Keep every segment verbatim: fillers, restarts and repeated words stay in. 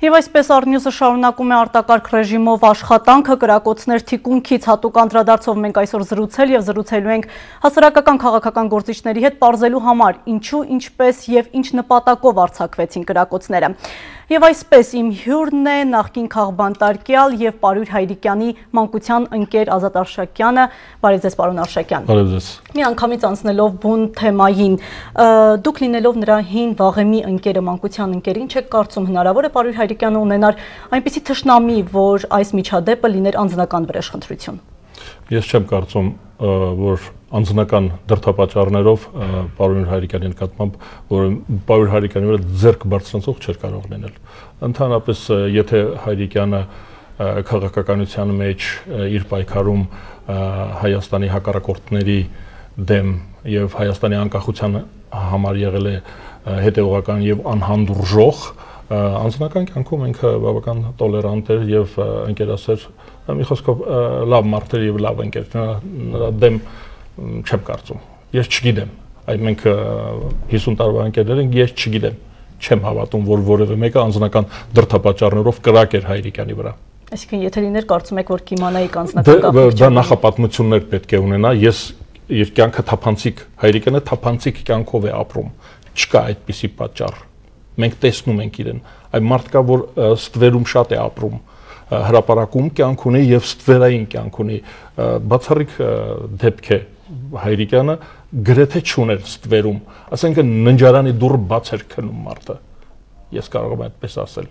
Եվ այսպես Առնյուսը շարունակում է արտակարգ ռեժիմով աշխատանքը, կրակոցներ թիկունքից հատուկ անդրադարձով մենք այսօր զրուցել և զրուցելու ենք հասարակական քաղաքական գործիչների հետ պարզելու համար, ինչու, ինչպես և ինչ նպատակով արձակվեցին կրակոցները։ Եվ այսպես իմ հյուրն է նախկին քաղբանտարկյալ և Պարույր Հայրիկյանի մանկության ընկեր Ազատ Արշակյանը։ Բարև ձեզ, պարոն Արշակյան։ Բարև ձեզ։ Մի անգամից անցնելով բուն թեմային, դուք լինելով նրա հին վաղեմի ընկերը, մանկության ընկերը, ինչ եք կարծում, հնարավոր է Պարույր Հայրիկյանը ունենար այնպիսի թշնամի, որ այս միջադեպը լիներ անձնական վրեժխնդրություն։ Ես չեմ կարծում, որ անձնական դրդապատճառներով Պարույր Հայրիկյանի նկատմամբ, որ Պարույր Հայրիկյանի վրա ձեռք բարձրանցող չէր կարող լինել։ Ընդհանրապես, եթե Հայրիկյանը քաղաքականության մեջ իր պայքարում Հայաստանի հակառակորդների դեմ եւ Հայաստանի անկախության համար եղել է հետեւողական եւ անհանդուրժող, անձնական կյանքում ինքը բավական տոլերանտ էր եւ ընկերասեր, մի խոսքով լավ մարդ էր եւ լավ ընկեր, նրա դեմ չեմ կարծում, ես չգիտեմ, այդ մենք հիսուն տարվա ընկերներ ենք, ես չգիտեմ, չեմ հավատում, որ որևէ մեկը անձնական դրդապատճառներով կրակ էր Հայրիկյանի վրա։ Այսինքն եթե լիներ կարծում եք, որ կիմանայիք անձնական կապը։ Դա նախապատմություններ պետք է ունենա, ես իր կյանքը թափանցիկ, Հայրիկյանը թափանցիկ կյանքով է ապրում, չկա այդպիսի պատճառ, մենք տեսնում ենք իրեն, այդ մարդկա, որ ստվերում շատ է ապրում, հրապարակում կյանք ունի եւ ստվերային կյանք ունի, բացառիկ դեպք է Հայրիկյանը գրեթե չուներ ստվերում, ասենք ննջարանի դուռը բաց էր քնում մարդը, ես կարող եմ այդպես ասել,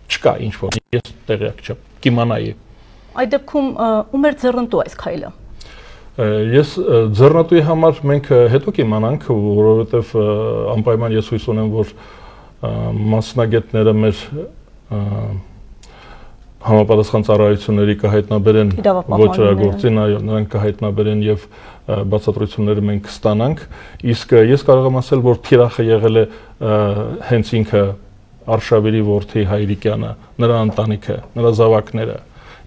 չկա ինչ որ, ես տեղյակ չեմ, կիմանայի։ Այդ դեպքում ում էր ձեռնտու այս քայլը։ Ես ձեռնատուի համար մենք հետո կիմանանք, որովհետև անպայման ես հույս ունեմ, որ մասնագետները մեր համապատասխան ծառայությունների կհայտնաբերեն ոչրագործին, նրանք կհայտնաբերեն եւ բացատրությունները մենք կստանանք, իսկ ես կարող եմ ասել, որ թիրախը եղել է հենց ինքը Արշավիրի որդի Հայրիկյանը, նրա ընտանիքը, նրա զավակները։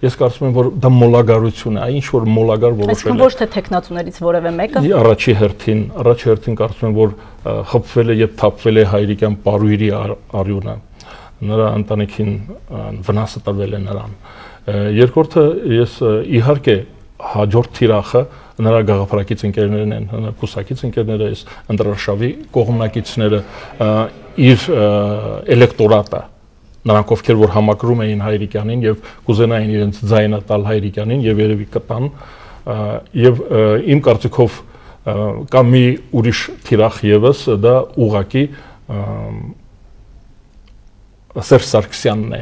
Ես կարծում եմ, որ դա մոլագարություն է, ինչ որ մոլագար որոշել է։ Այսինքն ոչ թե տեխնացուներից որևէ մեկը։ Առաջի հերթին, առաջի հերթին կարծում եմ, որ խփվել է եւ թափվել է Հայրիկյան Պարույրի արյունը։ Նրա ընտանիքին վնասը տվել է նրան։ Երկրորդը ես իհարկե հաջորդ թիրախը նրա գաղափարակից ընկերներն են, նրա կուսակից ընկերները, այս Ընտրարշավի կողմնակիցները, իր էլեկտորատը, նրանք ովքեր որ համակրում էին Հայրիկյանին եւ կուզենային իրենց ձայնը տալ Հայրիկյանին եւ երևի կտան, եւ իմ կարծիքով կա մի ուրիշ թիրախ եւս, դա ուղակի Սերժ Սարգսյանն է,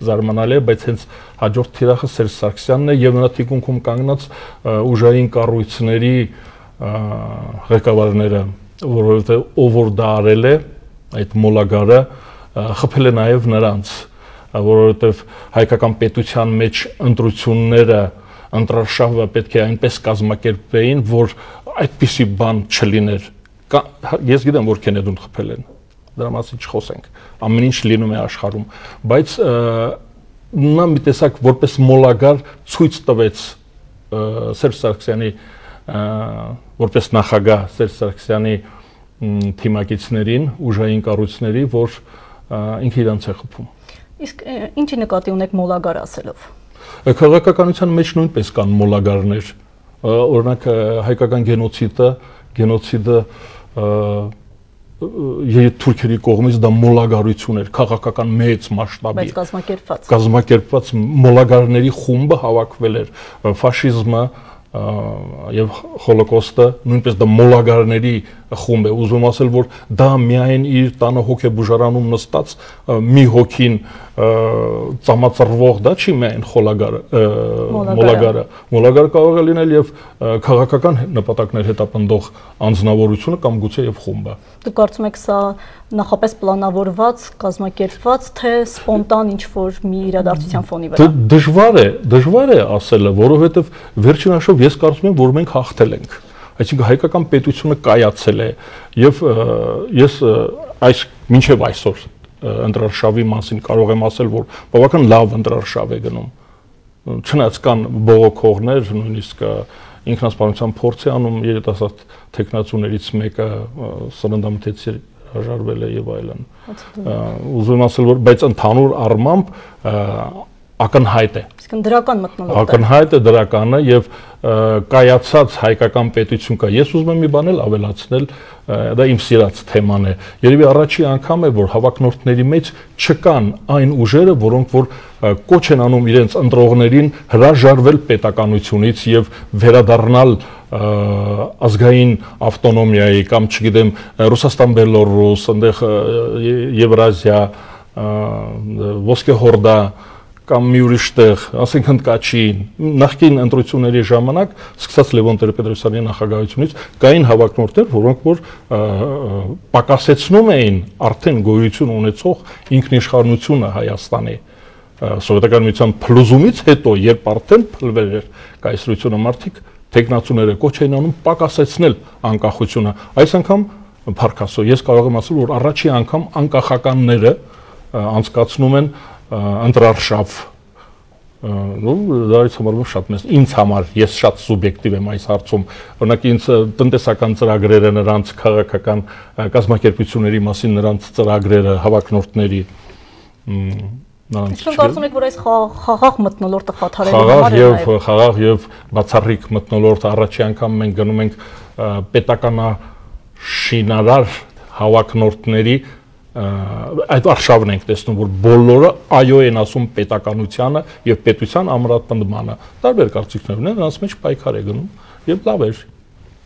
զարմանալի է, բայց հենց հաջորդ թիրախը Սերժ Սարգսյանն է եւ նրա թիկունքում կանգնած ուժային կառույցների ղեկավարները, որովհետեւ ով որ դա արել է, այդ մոլագարը խփել է նաև նրանց, որովհետև հայկական պետության մեջ ընտրությունները, ընտրարշավը պետք է այնպես կազմակերպեին, որ այդպիսի բան չլիներ։ Ես գիտեմ, որ Քենեդուն խփել են, դրա մասին չխոսենք, ամեն ինչ լինում է աշխարհում, բայց նա մի տեսակ որպես մոլագար ցույց տվեց Սերժ Սարգսյանի, որպես նախագահ Սերժ Սարգսյանի թիմակիցներին, ուժային կառույցների, որ ինքը իրանց է խփում։ Իսկ ինչի նկատի ունեք մոլագար ասելով։ Քաղաքականության մեջ նույնպես կան մոլագարներ, օրինակ հայկական գենոցիդը, գենոցիդը թուրքերի կողմից դա մոլագարություն էր, քաղաքական մեծ մասշտաբի։ Բայց կազմակերպված։ Կազմակերպված մոլագարների խումբը հավաքվել էր, ֆաշիզմը եւ հոլոկոստը նույնպես դա մոլագարների խումբ է, ուզում ասել, որ դա միայն իր տանը հոգեբուժարանում նստած մի հոգին ծամածրվող, դա չի միայն մոլագարը, մոլագարը կարող է լինել եւ քաղաքական նպատակներ հետապնդող անձնավորությունը կամ գուցե եւ խումբը։ Դուք կարծում եք սա նախապես պլանավորված, կազմակերպված, թե սպոնտան ինչ-որ մի իրադարձության ֆոնի վրա։ Դժվար է, դժվար է ասելը, որովհետեւ վերջին հաշվով ես կարծում եմ, որ մենք հաղթել ենք։ Այսինքն հայկական պետությունը կայացել է եւ ես այս մինչեւ այսօր ընտրարշավի մասին կարող եմ ասել, որ բավական լավ ընտրարշավ է գնում։ Չնայած կան բողոքողներ, նույնիսկ ինքնասպանության փորձ է անում երիտասարդ տեխնացուներից մեկը սննդամթերքի հրաժարվել է եւ այլն։ Ուզում եմ ասել, որ բայց ընդհանուր առմամբ ակնհայտ է։ Իսկ դրական մթնոլորտ է։ Ակնհայտ է դրականը եւ կայացած հայկական պետություն կա։ Ես ուզում եմ մի բան էլ ավելացնել, դա իմ սիրած թեման է։ Երևի առաջի անգամ է, որ հավակնորդների մեջ չկան այն ուժերը, որոնք որ կոչ են անում իրենց ընտրողներին հրաժարվել պետականությունից եւ վերադառնալ ազգային ավտոնոմիայի կամ չգիտեմ Ռուսաստան, Բելոռուս, այնտեղ Եվրազիա, Ոսկե Հորդա կամ մի ուրիշ տեղ, ասենք Հնդկաչին, նախկին ընտրությունների ժամանակ, սկսած Լևոն Տեր-Պետրոսյանի նախագահությունից, կային հավակնորդներ, որոնք որ պակասեցնում էին արդեն գոյություն ունեցող ինքնիշխանությունը Հայաստանի սովետական միության փլուզումից հետո, երբ արդեն փլվել էր կայսրությունը, մարդիկ թեկնածուները կոչ էին անում պակասեցնել անկախությունը։ Այս անգամ փառքասո ես կարող եմ ասել, որ առաջի անգամ անկախականները անցկացնում են ընտրարշավ, դա համարվում շատ մեծ ինձ համար, ես շատ սուբյեկտիվ եմ այս հարցում, օրինակ ինձ տնտեսական ծրագրերը, նրանց քաղաքական կազմակերպությունների մասին նրանց ծրագրերը, հավակնորդների Իսկ կարծում եք, որ այս խաղաղ մթնոլորտը խաթարելու համար է նաև խաղաղ եւ բացառիկ մթնոլորտը առաջի անգամ մենք գնում ենք պետականաշինարար հավակնորդների այդ արշավն ենք տեսնում, որ բոլորը այո են ասում պետականությանը եւ պետության ամրապնդմանը։ Տարբեր կարծիքներ ունեն, նրանց մեջ պայքար է գնում եւ լավ է։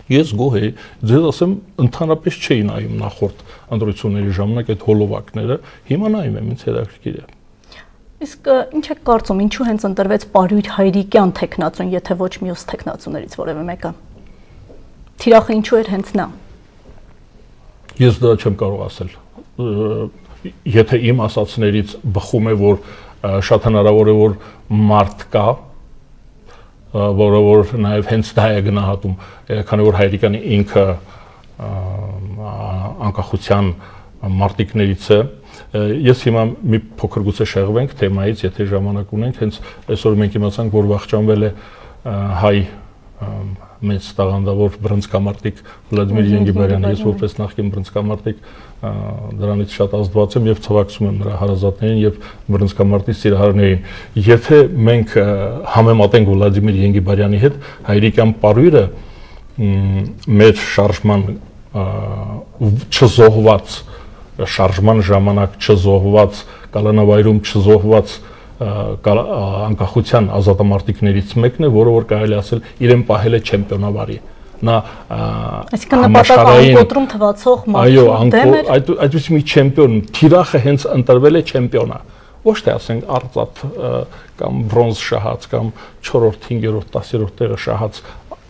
Ես գոհ եի, ձեզ ասեմ, ընդհանրապես չէի նայում նախորդ ընտրությունների ժամանակ այդ հոլովակները, հիմա նայում եմ, ինձ հետաքրքիր է։ Իսկ ինչ եք կարծում, ինչու հենց ընտրվեց Պարույր Հայրիկյան թեկնածուն, եթե ոչ մյուս թեկնածուներից որևէ մեկը։ Թիրախը ինչու էր հենց նա։ Ես դա չեմ կարող ասել։ Եթե իմ ասածներից բխում է, որ շատ հնարավոր է, որ մարդ կա, որը որ նաև հենց դա է գնահատում, քանի որ Հայրիկյանը ինքը անկախության մարտիկներից է։ Ես հիմա մի փոքր գուցե շեղվենք թեմայից, եթե ժամանակ ունենք, հենց այսօր մենք իմացանք, որ վախճանվել է հայ մեծ տաղանդավոր բռնցքամարտիկ Վլադիմիր Ենգիբարյանը, ես որպես նախկին բռնցքամարտիկ դրանից շատ ազդված եմ եւ ցավակցում եմ նրա հարազատներին եւ բռնցքամարտի սիրահարներին։ Եթե մենք համեմատենք Վլադիմիր Ենգիբարյանի հետ, Հայրիկյան Պարույրը մեր շարժման չզոհված շարժման ժամանակ չզոհված, կալանավայրում չզոհված անկախության ազատամարտիկներից մեկն է, որը որ կարելի ասել իրեն պահել է չեմպիոնավարի։ Նա համաշխարհային կոտրում թվացող մարդու դեմ էր։ Այո, այդպես մի չեմպիոն, թիրախը հենց ընտրվել է չեմպիոնա։ Ոչ թե ասենք արծաթ կամ բրոնզ շահած կամ չորրորդ, հինգերորդ, տասերորդ տեղը շահած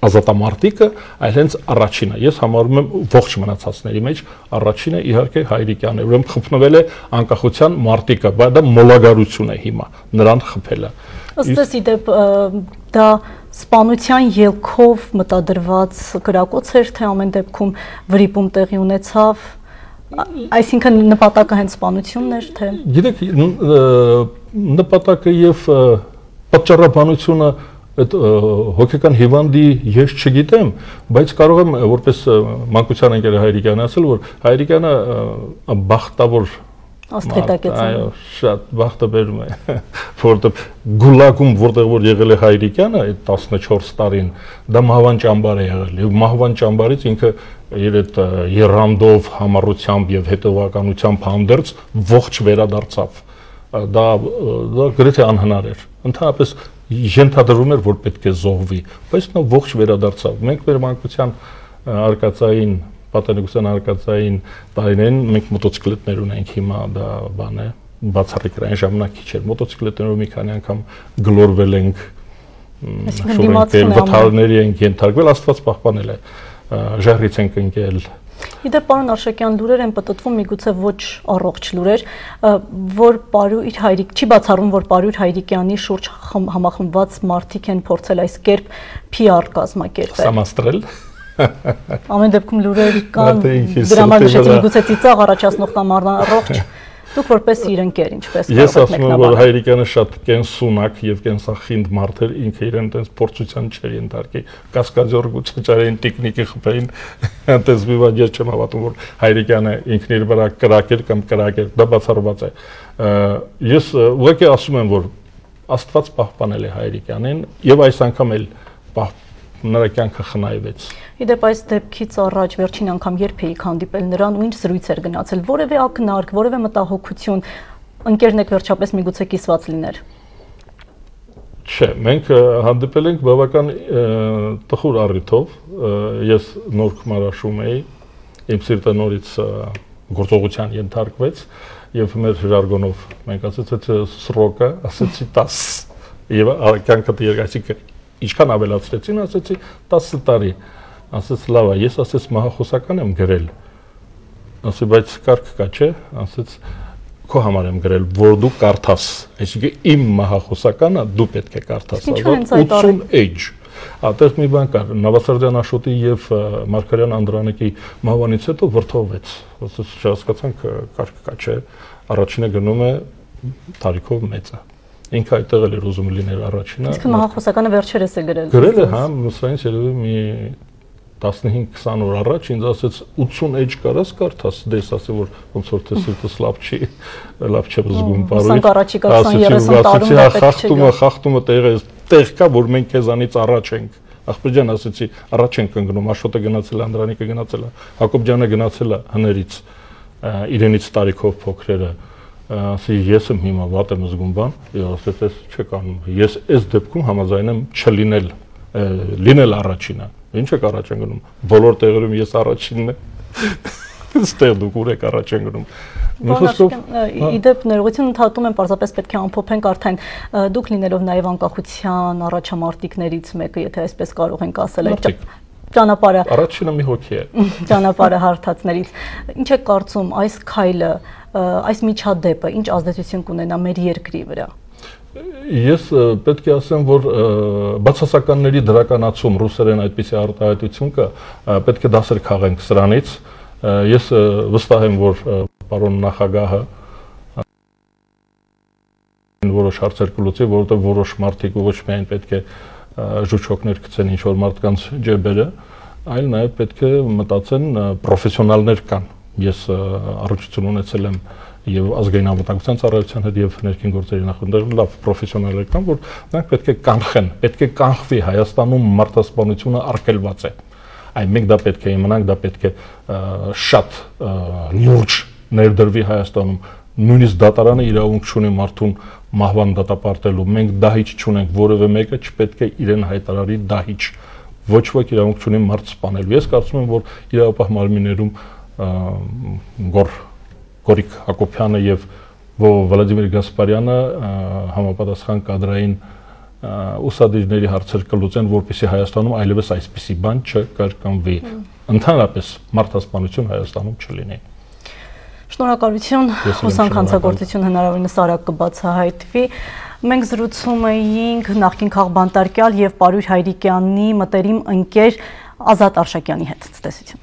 ազատամարտիկը, այլ հենց առաջինը։ Ես համարում եմ ողջ մնացածների մեջ առաջինը իհարկե Հայրիկյանն է, ուրեմն խփնվել է անկախության մարտիկը, բայց դա մոլագարություն է հիմա, նրան խփելը։ Ըստ էս իդեպ դա սպանության ելքով մտադրված գրակոց էր, թե ամեն դեպքում վրիպում տեղի ունեցավ, այսինքն նպատակը հենց սպանությունն էր, թե։ Գիտեք, նպատակը եւ պատճառաբանությունը այդ հոգեկան հիվանդի ես չգիտեմ, բայց կարող եմ որպես մանկության ընկեր Հայրիկյանը ասել, որ Հայրիկյանը բախտավոր աստղետակեց։ Այո, շատ բախտը բերում է, որովհետև գուլագում որտեղ որ եղել է Հայրիկյանը այդ տասնչորս տարին, դա մահվան ճամբար է եղել, եւ մահվան ճամբարից ինքը իր այդ երանդով, համառությամբ եւ հետևականությամբ հանդերձ ողջ վերադարձավ։ Դա դա գրեթե անհնար էր։ Ընդհանրապես ենթադրվում էր, որ պետք է զոհվի, բայց նա ողջ վերադարձավ։ Մենք մեր մանկության արկածային, պատանեկության արկածային տարիներին մենք մոտոցիկլետներ ունենք, հիմա դա բան է, բացառիկ այն ժամանակ քիչ էր։ Մոտոցիկլետներով մի քանի անգամ գլորվել ենք, վթարների ենք ենթարկվել, Աստված պահպանել է, ժահրից ենք ընկել։ Իդեպ պարոն Արշակյան, լուրեր են պտտվում, միգուցե ոչ առողջ լուրեր, որ Պարույր Հայրիկ, չի բացառում, որ Պարույր Հայրիկյանի շուրջ համախմբված մարդիկ են փորձել այս կերպ P R կազմակերպել։ Սամաստրել։ Ամեն դեպքում լուրեր կան, դրա համար նշեցի, միգուցե ծիծաղ առաջացնող կամ առողջ Դուք որպես իր ընկեր, ինչպես կարող եք մեկնաբանել։ Ես ասում եմ, որ Հայրիկյանը շատ կենսունակ եւ կենսախինդ մարդ էր, ինքը իրեն այդպես փորձության չէր ընդարկի, կասկադյոր գուցեչարային տեխնիկի խփային, այդպես մի բան ես չեմ հավատում, որ Հայրիկյանը ինքն իր վրա կրակեր կամ կրակեր, դա բացառված է։ Ես ուղղակի ասում եմ, որ Աստված պահպանել է Հայրիկյանին եւ այս անգամ էլ նրա կյանքը խնայվեց։ Իդեպ այս դեպքից առաջ վերջին անգամ երբ էիք հանդիպել նրան ու ինչ զրույց էր գնացել, որևէ ակնարկ, որևէ մտահոգություն, ընկերն եք վերջապես միգուցե կիսված լիներ։ Չէ, մենք հանդիպել ենք բավական տխուր առիթով, ես նոր Քմարաշում էի, իմ սիրտը նորից գործողության ենթարկվեց եւ մեր ժարգոնով մենք ասեցի սրոկը, ասեցի տաս եւ կյանքը երկացի ինչքան ավելացրեցին, ասեցի տասը տարի, ասեց լավ է, ես ասեց մահախոսական եմ գրել, ասեցի բայց կարգ կա չէ, ասեց քո համար եմ գրել, որ դու կարդաս, այսինքն իմ մահախոսականը դու պետք է կարդաս, ութսուն էջ, այդտեղ մի բան կար, Նավասարդյան Աշոտի եւ Մարգարյան Անդրանիկի մահվանից հետո վրդովվեց, ասեց չհասկացանք կարգ կա չէ, առաջինը գնում է տարիքով մեծը։ Ինքը այդտեղ էլ էր ուզում լինել առաջինը։ Իսկ մահախոսականը վերջերս է գրել։ Գրել է, հա, սրանից երևի մի տասնհինգ քսան օր առաջ ինձ ասեց ութսուն էջ կարաս կարդաս, դες ասի որ ոնց որ թե սիրտս լավ չի, լավ չեմ զգում բարույթ։ Խախտումը, խախտումը տեղը տեղ կա, որ մենք քեզանից առաջ ենք։ Ախպեր ջան, ասեցի, առաջ ենք ընկնում, Աշոտը գնացել է, Անդրանիկը գնացել է, Հակոբ ջանը գնացել է հներից, իրենից տարիքով փոքրերը։ Ասի ես եմ հիմա վատ եմ զգում բան, եւ ասեց ես չեք անում։ Ես այս դեպքում համաձայն եմ չլինել, լինել առաջինը։ Ինչ եք առաջ ընկնում։ Բոլոր տեղերում ես առաջինն եմ։ Ստեղ դուք ուր եք առաջ ընկնում։ Իդեպ ներողություն ընդհատում եմ, պարզապես պետք է ամփոփենք արդեն դուք լինելով նաեւ անկախության առաջամարտիկներից մեկը, եթե այսպես կարող ենք ասել, այդ ճանապարհը առաջինը մի հոգի է։ Ճանապարհը հարթածներից։ Ինչ եք կարծում այս քայլը, այս միջադեպը ինչ ազդեցություն կունենա մեր երկրի վրա։ Ես պետք է ասեմ, որ բացասականների դրականացում ռուսերեն այդպիսի արտահայտություն կա, պետք է դասեր քաղենք սրանից։ Ես վստահ եմ, որ պարոն նախագահը որոշ հարցեր կլուծի, որովհետև որոշ մարդիկ ոչ միայն պետք է ժուճոկներ գցեն ինչ-որ մարդկանց ջեբերը, այլ նաև պետք է մտածեն պրոֆեսիոնալներ կան։ Ես առողջություն ունեցել եմ եւ ազգային անվտանգության ծառայության հետ եւ ներքին գործերի նախարարությունում լավ պրոֆեսիոնալներ կան, որ նրանք պետք է կանխեն, պետք է կանխվի Հայաստանում մարդասպանությունը արգելված է։ Այ մենք դա պետք է իմանանք, դա պետք է շատ լուրջ ներդրվի Հայաստանում։ Նույնիսկ դատարանը իրավունք չունի մարդուն մահվան դատապարտելու։ Մենք դահիճ չունենք, որևէ մեկը չպետք է իրեն հայտարարի դահիճ։ Ոչ ոք իրավունք չունի մարդ սպանելու։ Ես կարծում եմ, որ իրավապահ մարմիններում Գոր Գորիկ Հակոբյանը եւ Վլադիմիր Գասպարյանը համապատասխան կադրային ուսադիրների հարցեր կլուծեն, որպեսզի Հայաստանում այլևս այսպիսի բան չկրկնվի։ Ընդհանրապես մարդասպանություն Հայաստանում չլինի։ Շնորհակալություն, հուսանք հանցագործություն հնարավորինս արագ կբացահայտվի։ Մենք զրուցում էինք նախկին քաղբանտարկյալ եւ Պարույր Հայրիկյանի մտերիմ ընկեր Ազատ Արշակյանի հետ։ Ցտեսություն։